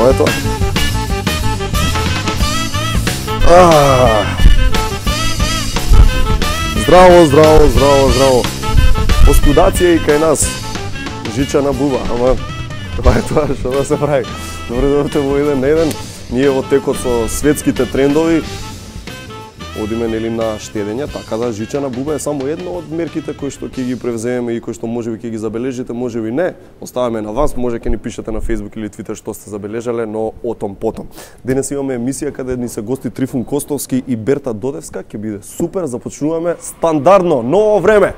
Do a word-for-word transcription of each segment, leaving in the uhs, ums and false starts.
Тоа е тоа. Ah. Здраво, здраво, здраво, здраво. Оскудација и кај нас. Жичана буба, ама тоа е тоа што да се прави. Добре дојдовте во еден на еден. Ние во текот со светските трендови одиме нели на штедење, така да жичана буба е само една од мерките кои што ќе ги превземеме и кои што можеби ќе ги забележите, можеби не. Оставаме на вас, може ќе ни пишете на Facebook или Twitter што сте забележале, но отом потом. Денес имаме емисија каде ни се гости Трифун Костовски и Берта Додевска, ќе биде супер, започнуваме стандардно, ново време.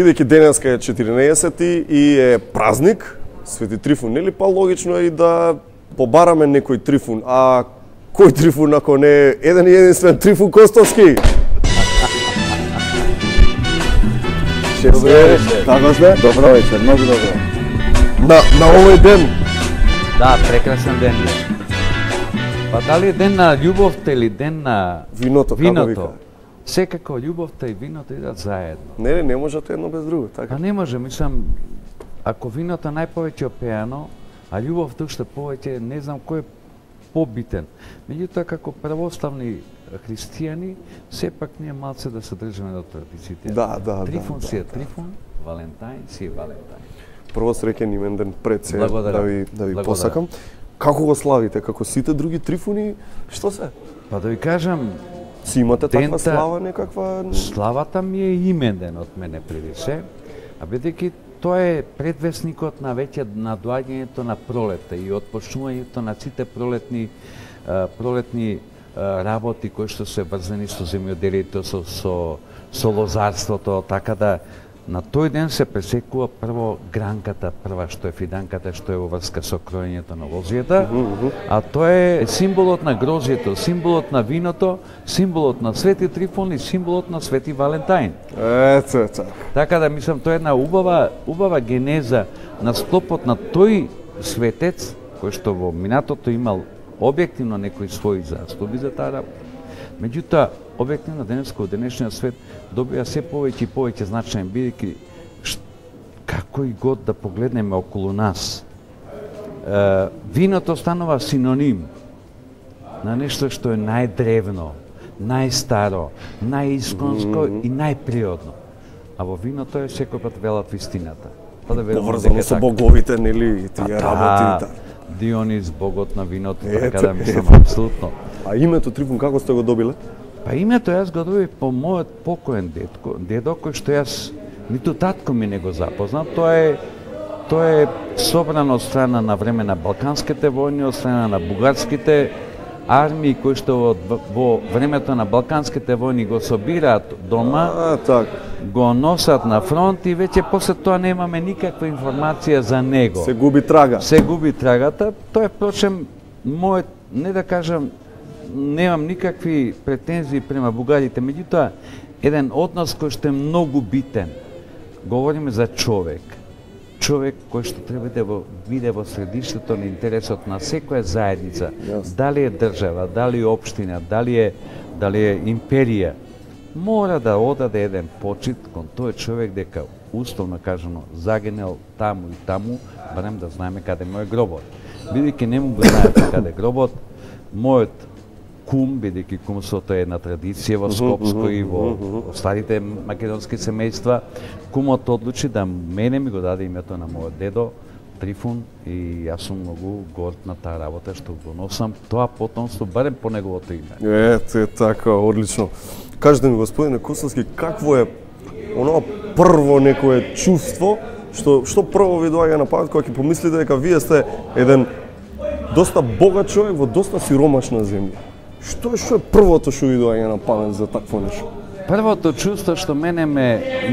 Бидејќи денеска е четиринаесети и е празник, Свети Трифун, нели па логично е и да побараме некој Трифун, а кој Трифун ако не е еден и единствен Трифун Костовски? Добре, така сте? Добро вечер, многу добро. На, на овој ден? Да, прекрасен ден е. Па дали е ден на љубовта или ден на виното, виното? како вика? Секако љубовта и виното идат заедно. Не, не можете едно без друго, така? А не може, мислам, ако виното најповеќе опеано, а љубовта уште повеќе, не знам кој е побитен. Меѓутоа, како православни христијани, сепак ние малце да се држиме до традициите. Да, да, Трифун да, си е да, Трифун, Валентајн си е Валентајн. Прво среќен имен ден пред се, Благодарам. да ви, да ви Благодарам. посакам. Како го славите? Како сите други Трифуни? Што се? Па да ви кажам, Си имате таква Дента- слава некаква? славата ми е именен од мене преди се, а бидејќи тоа е предвесникот на веќе на доаѓањето на пролета и отпочнувањето на сите пролетни а, пролетни а, работи кои што се врзани со земјоделието, со, со, со лозарството, така да на тој ден се пресекува прво гранката, прва што е фиданката, што е во врска со кроењето на лозијата, а тоа е символот на грозјето, символот на виното, символот на Свети Трифун и символот на Свети Валентајн. Ето, ето. Така да мислам тоа е една убава убава генеза на склопот на тој светец кој што во минатото имал објективно некои своји заслуги за таа работа. Меѓутоа, објективно денеска во денешниот свет добија се повеќе и повеќе значаен, бидејќи како и год да погледнеме околу нас, е, виното станува синоним на нешто што е најдревно, најстаро, најисконско mm -hmm. и најприодно. А во виното е секој пат велат вистината. Па да верувам Поврзано дека со така. боговите, нели, и тие Да, работи. Дионис, богот на виното, Ето, така да мислам ето. апсолутно. А името Трифун како сте го добиле? Па името јас го добив по мојот покоен дедко, дедо кој што јас ниту татко ми не го запознав. Тоа е тоа е собрано од страна на време на балканските војни, од страна на бугарските армии кои што во, во времето на балканските војни го собираат дома, А, така. го носат на фронт и веќе после тоа немаме никаква информација за него. Се губи трага. Се губи трагата. Тоа е впрочем мојот, не да кажам, немам никакви претензии према бугарите, меѓутоа еден однос кој што е многу битен. Говориме за човек. Човек кој што треба да во, биде во средиштето на интересот на секоја заедница. Јасно. Дали е држава, дали е општина, дали е дали е империја, мора да одаде еден почит кон тој човек дека условно кажано загинел таму и таму, барем да знаеме каде му е гробот. Бидејќи не му го знаете каде е гробот, мојот кум, бидејќи кумството е една традиција во Скопско и во старите македонски семејства, кумот одлучи да мене ми го даде името на мојот дедо Трифун и јас сум многу горд на таа работа што го носам тоа потомство барем по неговото име. Ето е така, одлично. Кажете ми, господине Костовски, какво е оно прво некое чувство што што прво ви доаѓа на памет кога ќе помислите дека вие сте еден доста богат човек во доста сиромашна земја? Што е што е првото што ви доаѓа на памет за такво нешто? Првото чувство што мене ме,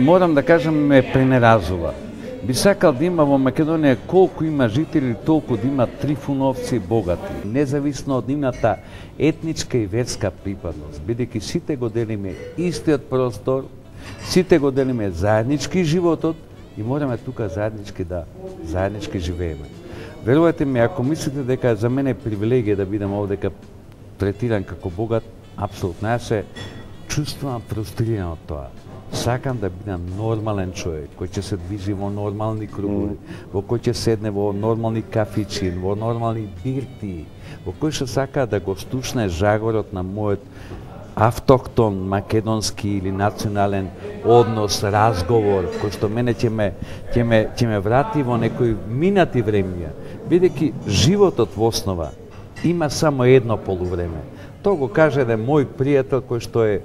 морам да кажам, ме пренеразува. Би сакал да има во Македонија колку има жители, толку да има трифуновци богати, независно од нивната етничка и верска припадност, бидејќи сите го делиме истиот простор, сите го делиме заеднички животот и мораме тука заеднички да заеднички живееме. Верувате ми, ако мислите дека за мене е привилегија да бидам овдека третиран како богат, апсолутно. Јас се чувствувам фрустриран од тоа. Сакам да бидам нормален човек, кој ќе се движи во нормални кругови, mm. во кој ќе седне во нормални кафичи, во нормални бирти, во кој што сака да го стушне жагорот на мојот автохтон, македонски или национален однос, разговор, кој што мене ќе ме, ќе ме, ќе ме врати во некои минати времења, бидејќи животот во основа има само едно полувреме. Тоа го каже еден мој пријател кој што е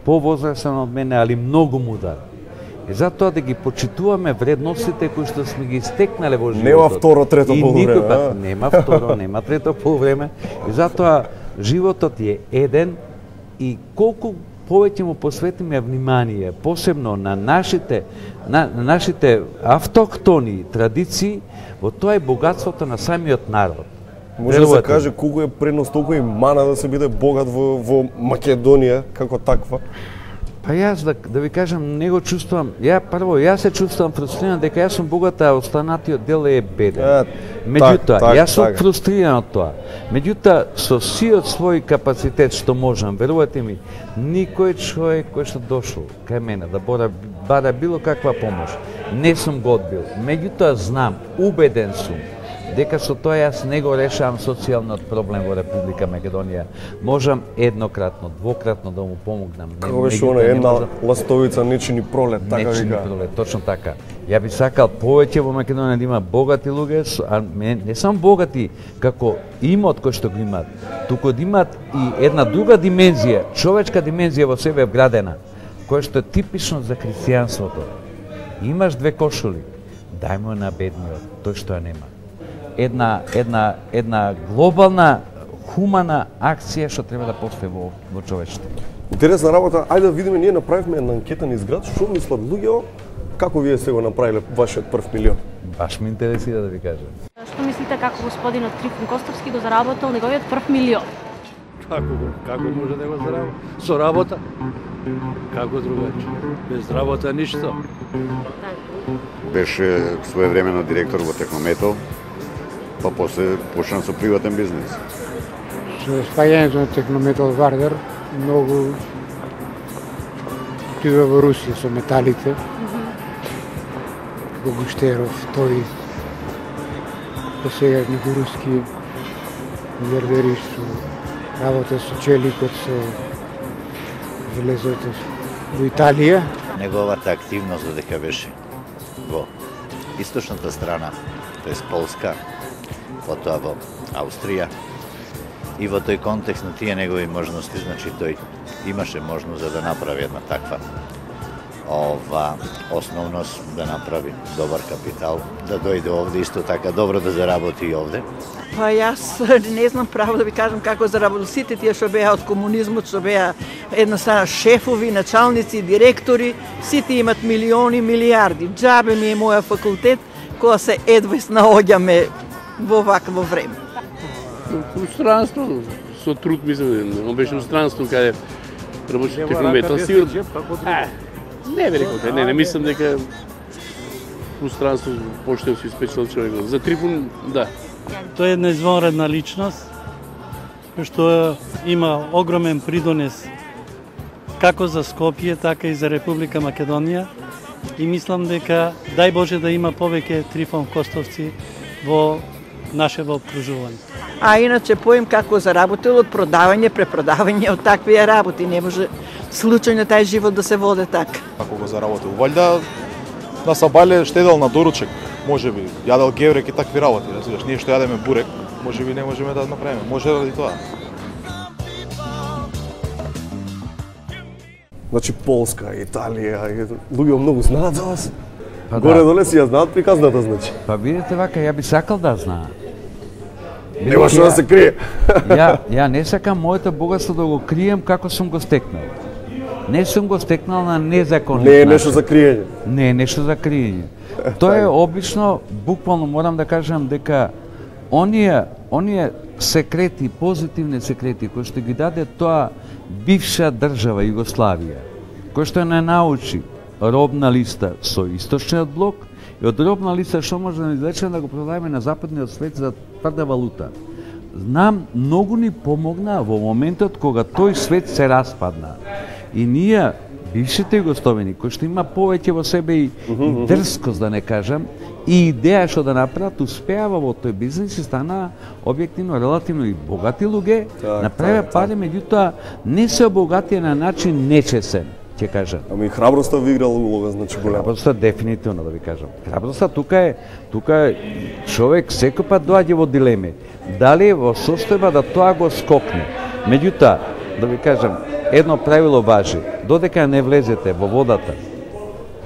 повозрасен од мене, али многу мудар. И затоа да ги почитуваме вредностите кои што сме ги стекнале во животот. Нема второ, трето полувреме. Пат, нема второ, нема трето полувреме. И затоа животот е еден и колку повеќе му посветиме внимание, посебно на нашите на, на нашите автохтони традиции, во тоа е богатството на самиот народ. Може да се каже колку е предност, толку и мана да се биде богат во, во Македонија како таква? Па јас да, да ви кажам, не го чувствувам. Ја прво, јас се чувствувам фрустриран дека јас сум богат, а останатиот дел е беден. Е, Меѓутоа, так, јас сум так. фрустриран од тоа. Меѓутоа, со сиот свој капацитет што можам, верувате ми, никој човек кој што дошол кај мене да бора, бара било каква помош, не сум го одбил. Меѓутоа, знам, убеден сум, дека со тоа јас не го решавам социјалниот проблем во Република Македонија. Можам еднократно, двократно да му помогнам. Како беше она една можам... ластовица не чини пролет, така не чини пролет, точно така. Ја би сакал повеќе во Македонија да има богати луѓе, а не, не само богати како имот кој што го имаат, туку да имаат и една друга димензија, човечка димензија во себе вградена, која што е типично за христијанството. Имаш две кошули, дај му на бедниот, тој што ја нема. Една, една, една глобална, хумана акција што треба да постои во, во човештвото. Интересна работа, ајде да видиме, ние направивме една анкета низ град, што мислат луѓе, како вие сте го направиле вашиот прв милион? Баш ме интересира да ви кажам. Што мислите како господинот Трифун Костовски го заработил неговиот прв милион? Како го, како може да го заработи? Со работа? Како другачи? Без работа ништо. Беше своевремено директор во Технометал, па после почна со приватен бизнес. Со спаѓањето на Технометал Вардар многу отидува во Русија со металите. Како Гуштеров, тој па сега некои руски милиардери што работа со челикот, со железото во Италија. Неговата активност додека беше во источната страна, тоест Полска, потоа во Австрија, и во тој контекст на тие негови можности, значи тој имаше можност за да направи една таква ова основност, да направи добар капитал, да дојде овде исто така добро да заработи и овде. Па јас не знам право да ви кажам како заработил. Сите тие што беа од комунизмот, што беа едноставно шефови, началници, директори, сите имат милиони, милиарди. Џабе ми е моја факултет, кога се едва наоѓаме во вакво време. Странство, со труд мислам, он беше странство каде работи Технометал, сигурно. Не бе рекол, не, не мислам дека пространство поштен си спечел човек. За Трифун, да. Тој е една извонредна личност, што има огромен придонес како за Скопје, така и за Република Македонија. И мислам дека, дај Боже да има повеќе Трифун Костовци во нашето обкружување. А иначе поим како заработил од продавање, препродавање од такви работи. Не може случајно тај живот да се води така. Како го заработил? Валјда на сабале штедел на доручек, можеби, јадел геврек и такви работи, разбираш, ние што јадеме бурек, можеби не можеме да направиме, може ради тоа. Значи Полска, Италија, луѓе многу знаат за вас. Па Горе да. доле си ја знаат приказната, значи. Па видите вака, ја би сакал да знаат. Нема што да се крие. ја, ја не сакам моето богатство да го крием како сум го стекнал. Не сум го стекнал на незаконит Не е начин. нешто за криење. Не е нешто за криење. Тоа е обично, буквално морам да кажам дека оние, оние секрети, позитивни секрети кои што ги даде тоа бивша држава Југославија, кој што не научи робна листа со источниот блок и од робна листа што може да извлечеме да го продадеме на западниот свет за тврда валута. Знам, многу ни помогна во моментот кога тој свет се распадна. И ние, бившите југословени, кои што има повеќе во себе и, и дрскост, да не кажам, и идеја што да направат, успеава во тој бизнес и стана објективно релативно и богати луѓе, направија пари, меѓутоа не се обогатија на начин нечесен, ќе кажам. Ами храброста ви играла улога, значи голема. Храброста дефинитивно, да ви кажам. Храброста тука е, тука е човек секој пат доаѓа во дилеми. Дали е во состојба да тоа го скокне. Меѓутоа, да ви кажам, едно правило важи. Додека не влезете во водата,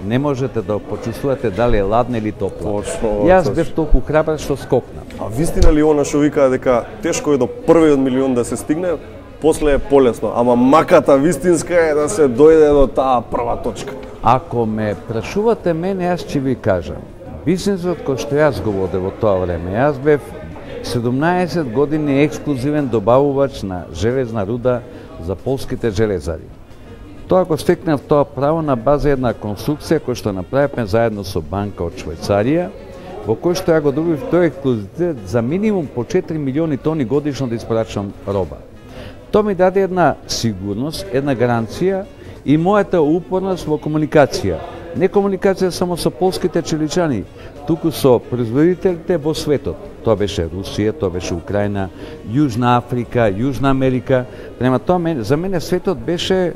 не можете да почувствувате дали е ладна или топла. Точно. Јас бев толку храбар што скокнав. А вистина ли она што вика дека тешко е до првиот милион да се стигне, после е полесно, ама маката вистинска е да се дојде до таа прва точка. Ако ме прашувате мене, јас ќе ви кажам, бизнисот кој што јас го водев во тоа време, јас бев седумнаесет години ексклузивен добавувач на железна руда за полските железари. Тоа го стекнав тоа право на база една конструкција која што направивме заедно со банка од Швајцарија, во кој што ја го добив тој ексклузивитет за минимум по четири милиони тони годишно да испорачам роба. Тоа ми даде една сигурност, една гаранција и мојата упорност во комуникација. Не комуникација само со полските челичани, туку со производителите во светот. Тоа беше Русија, тоа беше Украина, Јужна Африка, Јужна Америка. Према тоа, за мене светот беше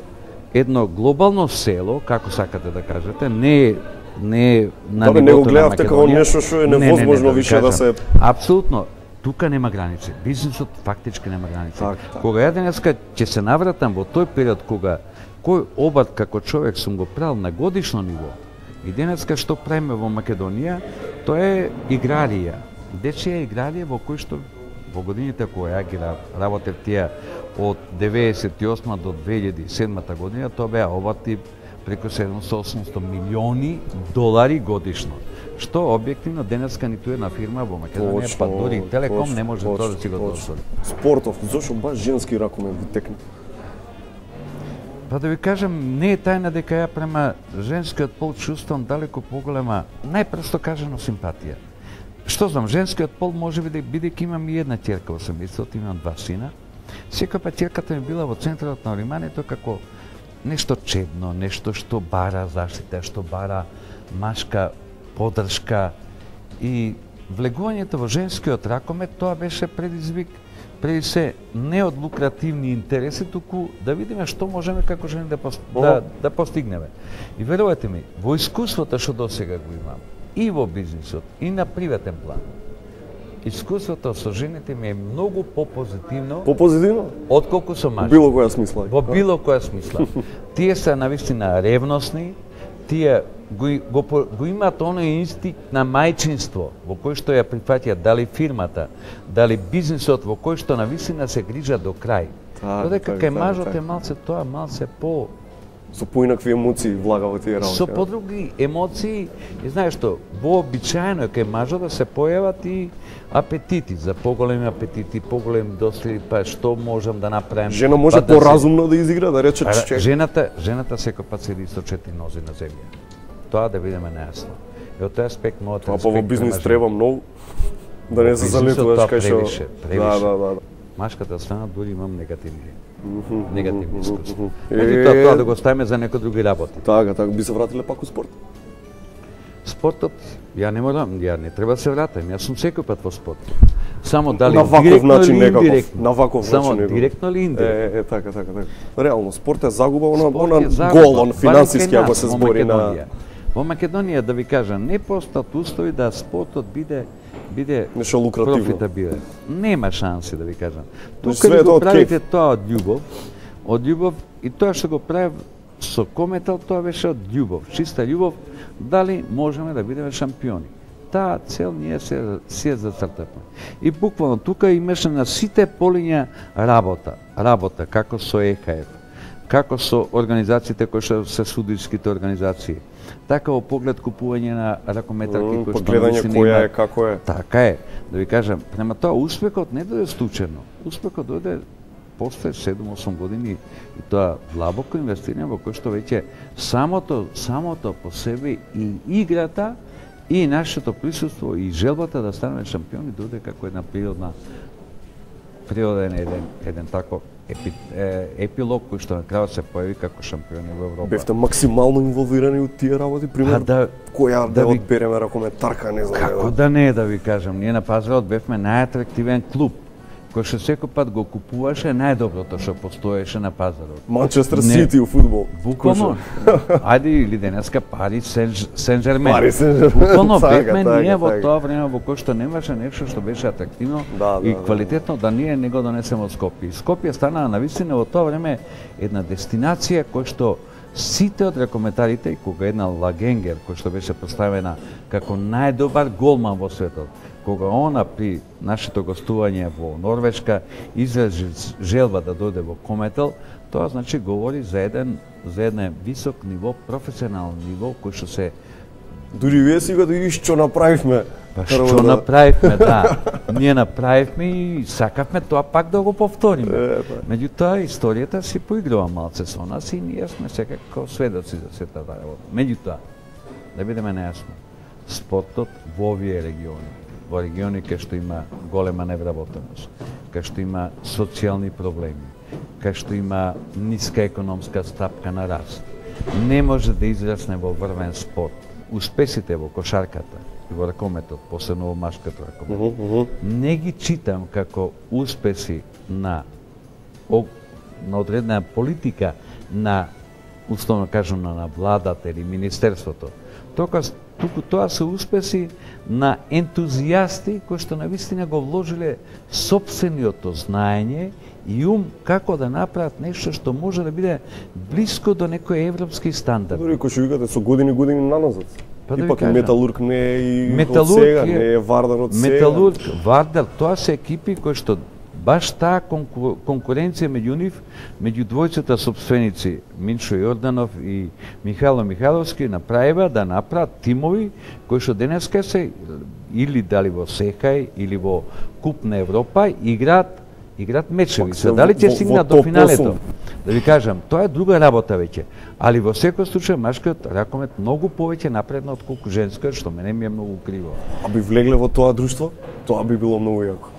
едно глобално село, како сакате да кажете, не не на Добре, не го нивото на гледавте како Македонија. нешто што е Не, не, не, невозможно да ви више да кажам. се... Апсолутно. Тука нема граници. Бизнисот фактички нема граници. Так, так. Кога ја денеска ќе се навратам во тој период кога кој обрт како човек сум го правил на годишно ниво, и денеска што правиме во Македонија, тоа е играрија. Дечија играрија во кој што во годините која ја ги работев тие од деветесет и осма до две илјади и седма година, тоа беа обрти преку седумстотини осумстотини милиони долари годишно. Што објективно денеска ниту една фирма во Македонија, Точно, па дори и Телеком точно, не може точно, тоа да си го точно. дозволи. Спортов, зошто баш женски ракомен ви текне? Па да ви кажам, не е тајна дека ја према женскиот пол чувствам далеко поголема, најпросто кажано, симпатија. Што знам, женскиот пол може би да бидејќи имам и една ќерка во семејството, имам два сина. Секој пат ќерката ми била во центарот на вниманието како нешто чедно, нешто што бара заштита, што бара машка поддршка, и влегувањето во женскиот ракомет тоа беше предизвик преди се не од лукративни интереси, туку да видиме што можеме како жени да, пост... да, да постигнеме. И верувате ми, во искуството што досега го имам, и во бизнисот, и на приватен план, искуството со жените ми е многу попозитивно, Попозитивно? отколку со мажите. Било која смисла. Во било која смисла. Тие се навистина ревностни, тие го, го, го имаат оној инстинкт на мајчинство, во кој што ја прифаќаат дали фирмата, дали бизнисот, во кој што навистина се грижа до крај. Додека кај мажот е малце тоа, малце по... Со поинакви емоции влага во тие работи. Со подруги емоции, и знаеш што, вообичаено е кај мажот да се појават и апетити, за поголеми апетити, поголеми доследи, па што можам да направам. Жена може па да поразумно да изигра, да рече се... че... Жената, жената секој пат седи со четири нози на земја. Тоа да видиме најасно. И од тој аспект мојот Тоа па во бизнис треба многу да не се залетуваш кај што... Превише, превише. Да, да, да. Машката страна дури имам негативни. Негативни искуства. Е, Меѓутоа тоа да го ставиме за некои други работи. Така, така, би се вратиле пак у спорт? Спортот, ја не морам, ја не треба да се вратам, јас сум секој пат во спорт. Само дали на ваков директно начин или некаков, индиректно. на ваков Само начин некаков. директно или индиректно. Е, е, така, така, така. Реално, спорт е загуба, она, Спорт она е загуба, гол, он барем финансиски, кај ако нас, се во збори на... Македонија. Во Македонија, да ви кажам, не постат устои да спортот биде биде Нешто лукративно. профитабилен. Нема шанси, да ви кажам. Значи, Тука све ли е тоа го од правите кејф. тоа од љубов, од љубов, и тоа што го правев со Кометал, тоа беше од љубов, чиста љубов, дали можеме да бидеме шампиони. Таа цел ние се си ја зацртавме. И буквално тука имаше на сите полиња работа, работа како со Е Х Ф, како со организациите кои што се судиските организации. Така во поглед купување на ракометарки mm, кои што гледање која е како е. Така е. Да ви кажам, према тоа успехот не дојде случајно. Успехот дојде после седум-осум години и тоа длабоко инвестирање во кој што веќе самото самото по себе и играта и нашето присуство и желбата да станеме шампиони дојде како една природна природен еден еден тако епи, е, епилог кој што на крајот се појави како шампиони во Европа. Бевте максимално инволвирани од тие работи, примерно? Да, која да, да ви... одбереме ракометарка, не знам. Како да не, да ви кажам, ние на пазарот бевме најатрактивен клуб кој што секој пат го купуваше најдоброто што постоеше на пазарот. Манчестер Сити у фудбал. Буквално. Ајде или денеска Пари Сен-Жермен. Пари Сен-Жермен. Буквално бевме ние во тоа време во кој што немаше нешто што беше атрактивно да, и да, квалитетно да ние не го донесеме од Скопје. Скопје стана навистина во тоа време една дестинација која што сите од ракометарите, кога една Лагенгер кој што беше поставена како најдобар голман во светот, кога она при нашето гостување во Норвешка изрази желба да дојде во Кометел, тоа значи говори за еден за еден висок ниво, професионален ниво кој што се дури вие сега да видиш што направивме. Па што да... направивме, да. Ние направивме и сакавме тоа пак да го повториме. Е, Меѓутоа историјата си поиграва малце со нас и ние сме секако сведоци за сета таа работа. Меѓутоа, да бидеме нејасно, спортот во овие региони, во региони кај што има голема невработеност, кај што има социјални проблеми, кај што има ниска економска стапка на раст, не може да израсне во врвен спорт. Успесите во кошарката и во ракометот, посебно во машката ракомет, uh -huh, uh -huh. не ги читам како успеси на на одредена политика на, условно кажам, на владата или министерството. Тока туку тоа се успеси на ентузијасти кои што навистина го вложиле сопствениото знаење и ум како да направат нешто што може да биде блиско до некој европски стандард. Дори кој што викате со години години наназад. Па да Ипак и Металург не е и Металург од сега, е, не е Вардар од сега. Металург, Вардар, тоа се екипи кои што баш таа конку, конкуренција меѓу нив, меѓу двојцата сопственици, Миншо Јорданов и Михајло Михајловски, направива да направат тимови кои што денеска се или дали во Сехај или во Куп на Европа играат играат мечеви. Се дали ќе стигнат до финалето? Да ви кажам, тоа е друга работа веќе. Али во секој случај машкиот ракомет многу повеќе напредна отколку женскиот, што мене ми е многу криво. А би влегле во тоа друштво? Тоа би било многу јако.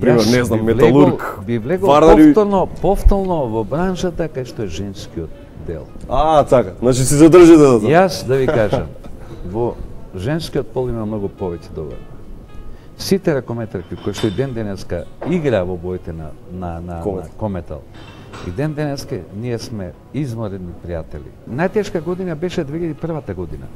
Пример, не знам, Металург, би влегол Вардари... повторно, повторно во браншата кај што е женскиот дел. А, така, значи си задржите за тоа. Јас да ви кажам, во женскиот пол има многу повеќе добар. Сите ракометарки кои што и ден денеска игра во боите на на на, Комет. на Кометал. И ден денеска ние сме изморени пријатели. Најтешка година беше две илјади и прва година.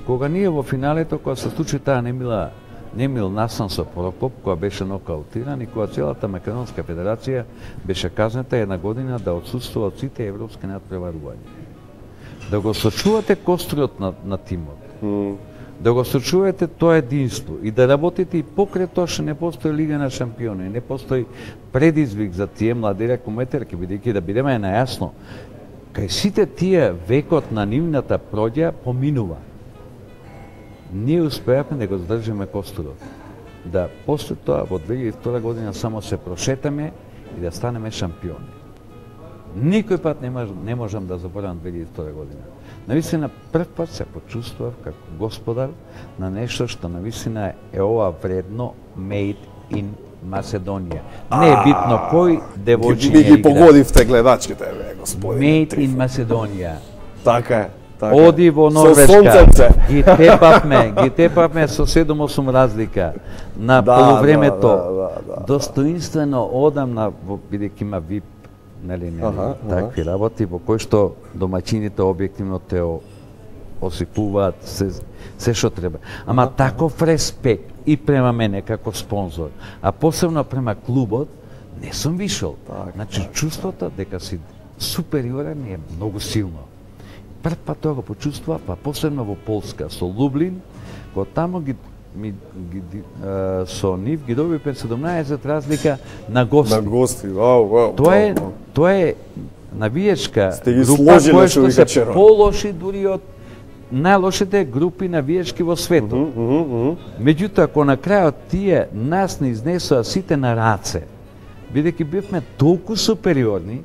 Кога ние во финалето, кога се случи таа немила Немил Настан со Прокоп, која беше нокаутиран и која целата Македонска федерација беше казната една година да отсутствува од сите европски надпреварувања. Да го сочувате костриот на, на тимот, Mm. да го сочувате тоа единство и да работите и покрај тоа што не постои Лига на шампиони, не постои предизвик за тие млади ракометарки, бидејќи да бидеме најасно, кај сите тие векот на нивната проѓа поминува. Ние успеавме да го задржиме костурот. Да после тоа во две илјади и втора година само се прошетаме и да станеме шампиони. Никој пат не, мож, не можам да заборавам две илјади и втора година. Навистина прв пат се почувствував како господар на нешто што навистина е ова вредно made in Macedonија. Не е битно кој девојчиња игра. Ги ги игра. погодивте гледачките, бе, господине. Made in Macedonија. Така е. Така. Оди во Норвешка, ги тепавме, ги тепавме со седум-осум разлика на да, полувремето. Да, да, да, да. Достоинствено одам на, бидејќи има вип, нели, нели, Аха, такви аха. работи, во кои што домаќините објективно те осипуваат се, се што треба. Ама аха, таков респект и према мене како спонзор, а посебно према клубот, не сум вишол. Так, значи, так. чувството дека си супериорен е многу силно. Прв пат тоа го почувствува, па посебно во Полска, со Лублин, кога тамо ги, ми, ги, а, со нив ги добивме седумнаесет разлика на гости. На гости, вау, вау. Тоа е, вау. тоа е навиечка Сте ги група сложиле која што што вика се Черо. полоши дури од најлошите групи навиечки во светот. Mm -hmm, mm -hmm. Меѓутоа, ако на крајот тие нас не изнесоа сите на раце, бидејќи бивме толку супериорни,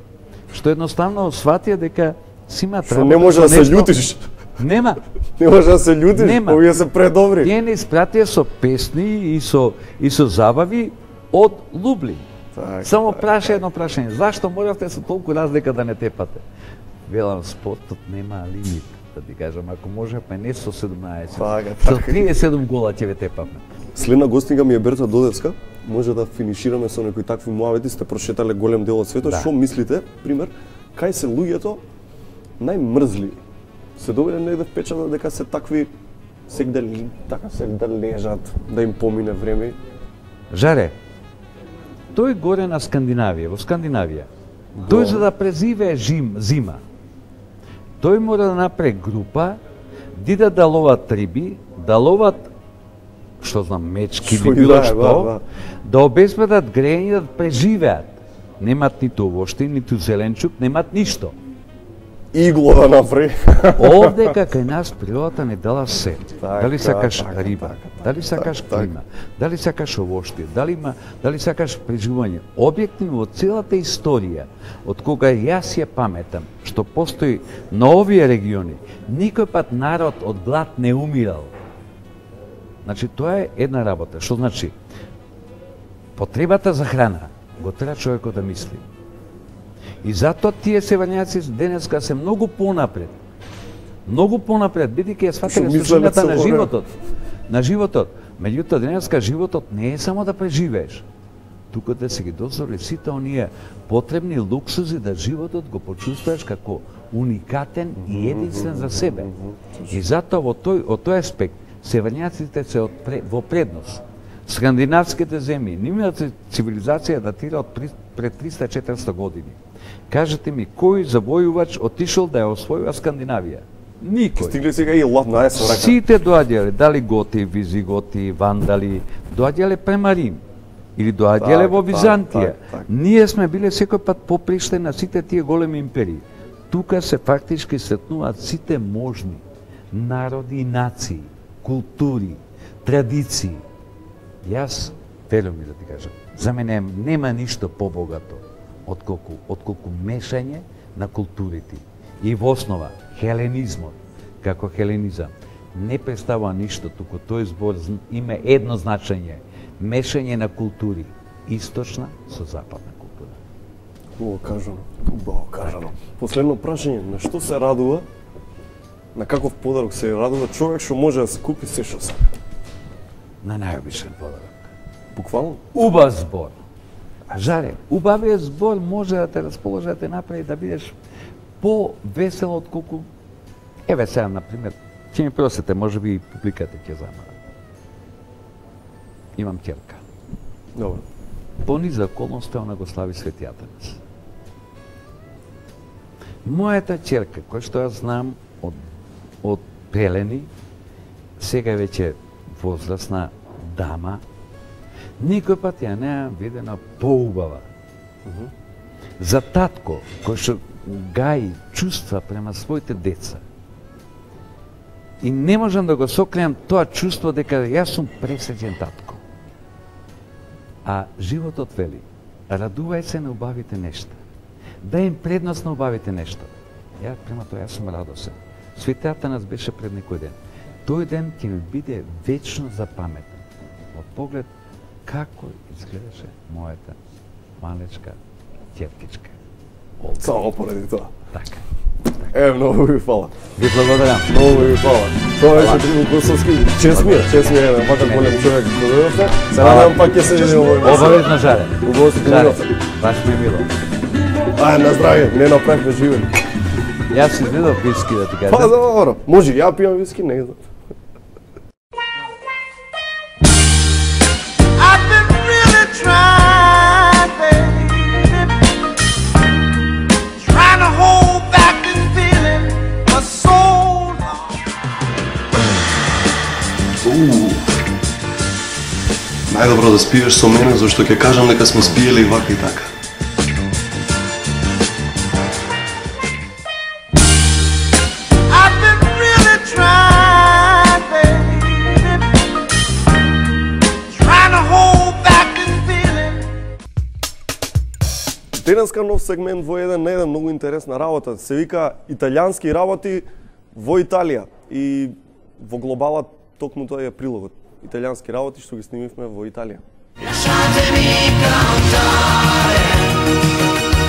што едноставно сватија дека си имаат Што не може да се љутиш. Нема. Не може да се љутиш, Нема. овие се предобри. Тие не испратија со песни и со и со забави од Лублин. Так, Само так, праша едно прашање, зашто моравте со толку разлика да не тепате? Велам, спортот нема лимит, да ти кажам, ако можеме не со седумнаесет, Така, со така. триесет и седум гола ќе ве тепавме. Следна гостинка ми е Берта Додевска. Може да финишираме со некои такви муавети, сте прошетале голем дел од светот. Да. Што мислите, пример, кај се луѓето најмрзли? Се добиле негде впечаток дека се такви сек да ли, така сек да лежат, да им помине време. Жаре, тој горе на Скандинавија, во Скандинавија, тој за да презивее жим, зима, тој мора да направи група, дида да ловат риби, да ловат, што знам, мечки Што или и било да е, што, да, да. да обезбедат грејање да преживеат. Немат ниту овошти, ниту зеленчук, немат ништо. Игло да направи. Овде кај нас природата не дала се. Така, Дали сакаш така, риба, така, дали сакаш така, клима, дали сакаш овошти, дали има, дали сакаш преживување. Објективно во целата историја, од кога јас ја паметам, што постои на овие региони, никој пат народ од глад не умирал. Значи, тоа е една работа. Што значи? Потребата за храна го тера човекот да мисли. И затоа тие севањаци денеска се многу понапред. Многу понапред, бидејќи ја сватиле Што мислеле сушината на цело време. животот. На животот. Меѓутоа, денеска животот не е само да преживееш, туку да се ги дозволи сите оние потребни луксузи да животот го почувствуваш како уникатен и единствен за себе. И затоа во тој, од тој аспект севањаците се од пре, во предност. Скандинавските земји, нивната цивилизација датира од при- пред триста четириста години. Кажете ми, кој завојувач отишол да ја освојува Скандинавија? Никој. Стигли сега и лав на есен рака. Сите доаѓале, дали готи, визиготи, вандали, доаѓале према Рим или доаѓале Так, во так, Византија. так, так. Ние сме биле секој пат поприште на сите тие големи империи. Тука се фактички сретнуваат сите можни народи и нации, култури, традиции. Јас, велам ми да ти кажам, за мене нема ништо побогато отколку, отколку мешање на културите. И во основа, хеленизмот, како хеленизам, не представува ништо, туку тој збор зн- има едно значење, мешање на култури, источна со западна култура. Убаво кажано, убаво кажано. Последно прашање, на што се радува, на каков подарок се радува човек што може да се купи се што сака? На најобичен подарок. Буквално? Убав збор. Жаре, убавиот збор може да те расположи да те направи да бидеш по-весел од колку... Еве сега, например, ќе ми просите, може би и публиката ќе замара. Имам ќерка. Добро. По низа околност она го слави Свети Атанас. Мојата ќерка, која што ја знам од, од пелени, сега е веќе возрасна дама, никој пат ја неам видена поубава. За татко, кој што гаи чувства према своите деца, и не можам да го сокријам тоа чувство дека јас сум пресреќен татко. А животот вели, радувај се на убавите нешта. Дај им предност на убавите нешта. Ја према тоа јас сум радосен. Свети Атанас беше пред некој ден. Тој ден ќе ми биде вечно запаметен. Од поглед како изгледаше мојата малечка ќеркичка. Само поради тоа. Така. Е, многу ви фала. Ви благодарам. Многу ви фала. Тоа беше Трифун Костовски. Чест ми е, чест ми е, еден ваков голем човек што дојдовте. Се надевам пак ќе се видиме во емисија. Обавезно, Жаре. Убаво се Жаре, поминавте. баш ми е мило. Ај, на здравје, не направивме живен. Јас си изгледав виски да ти кажам. Па, добро. Може, ја пијам виски, не знам. I've been really trying, baby, trying to hold back this feeling for so long. Уу. Најдобро да спиеш со мене, зашто ќе кажам дека сме спиеле и вака и така. Денеска нов сегмент во еден на еден, многу интересна работа. Се вика италијански работи во Италија. И во глобала токму тоа е прилогот. Италијански работи што ги снимивме во Италија. Lasciatemi cantare,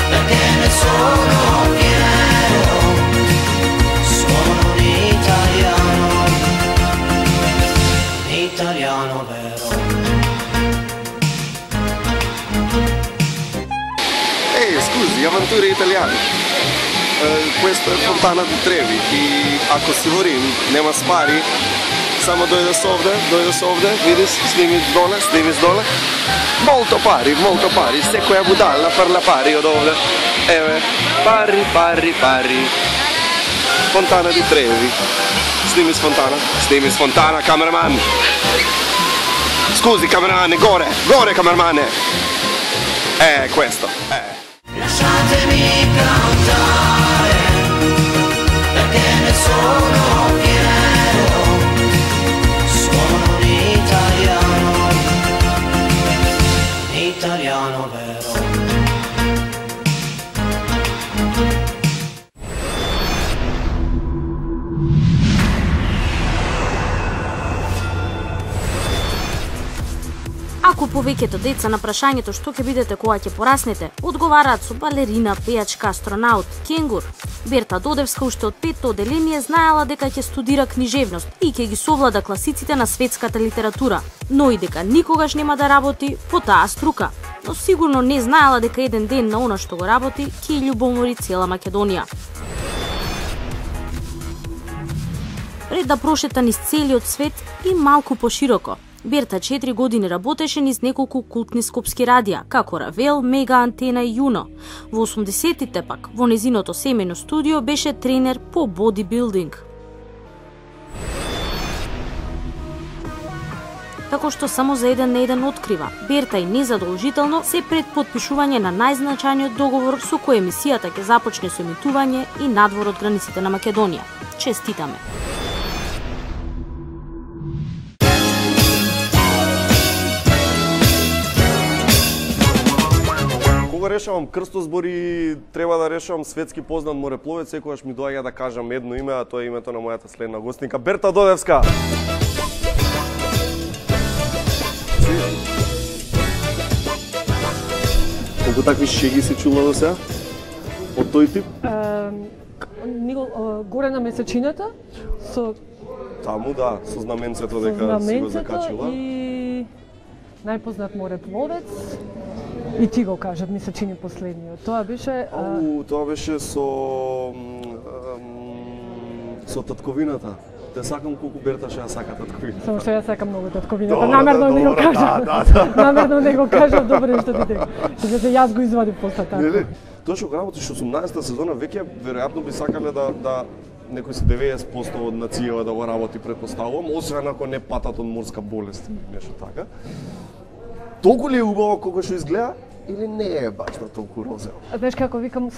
perché ne sono fiero, sono un italiano, italiano vero. Ehi, scusi, avventure italiane. Uh, questo è Fontana di Trevi i ako si vorim, nema spari, samo dojdeš ovde, dojdeš ovde, vidiš, snimi dole, snimi dole. Molto pari, molto pari, se koja budala parla pari od ovde. Evo, pari, pari, pari. Fontana di Trevi. Snimi s Fontana, snimi s Fontana, cameraman. Scusi, cameramane, gore, gore, cameramane. Eh, questo, eh. Lasciatemi cantare, perché ne sono fiero, sono un italiano, italiano vero. Ако повеќето деца на прашањето што ќе бидете кога ќе пораснете, одговараат со балерина, пејачка, астронаут, кенгур, Берта Додевска уште од петто оделение знаела дека ќе студира книжевност и ќе ги совлада класиците на светската литература, но и дека никогаш нема да работи по таа струка. Но сигурно не знаела дека еден ден на она што го работи ќе ја љубомори цела Македонија. Пред да прошета низ целиот свет и малку пошироко, Берта четири години работеше низ неколку култни скопски радија, како Равел, Мега, Антена и Јуно. Во осумдесеттите пак, во незиното семејно студио беше тренер по бодибилдинг. Како што само за еден на еден открива, Берта и незадолжително се пред потпишување на најзначајниот договор со кој емисијата ќе започне со емитување и надвор од границите на Македонија. Честитаме! Кога решавам крстозбори, треба да решавам светски познат морепловец, секогаш ми доаѓа да кажам едно име, а тоа е името на мојата следна гостинка, Берта Додевска. Колку такви шеги се чула до сега? Од тој тип? Горе на месечината, со... Таму, да, со знаменцето дека си го закачила. И најпознат морепловец. И ти го кажа, ми се чини последниот. Тоа беше... Ау, тоа беше со... со татковината. Те сакам колку Берта што ја сака татковината. Само што ја сакам многу татковината. Намерно не го кажа. Намерно не го кажа, добре што ти дека. Што се јас го извадив после така. Не, не. Тоа што работиш осумнаесетта сезона, веќе веројатно би сакале да да некој се деветдесет проценти од нацијава да го работи, претпоставувам, освен ако не патат од морска болест, нешто така. Толку ли е убаво колку што изгледа или не е баш на толку розево? Знаеш како викам,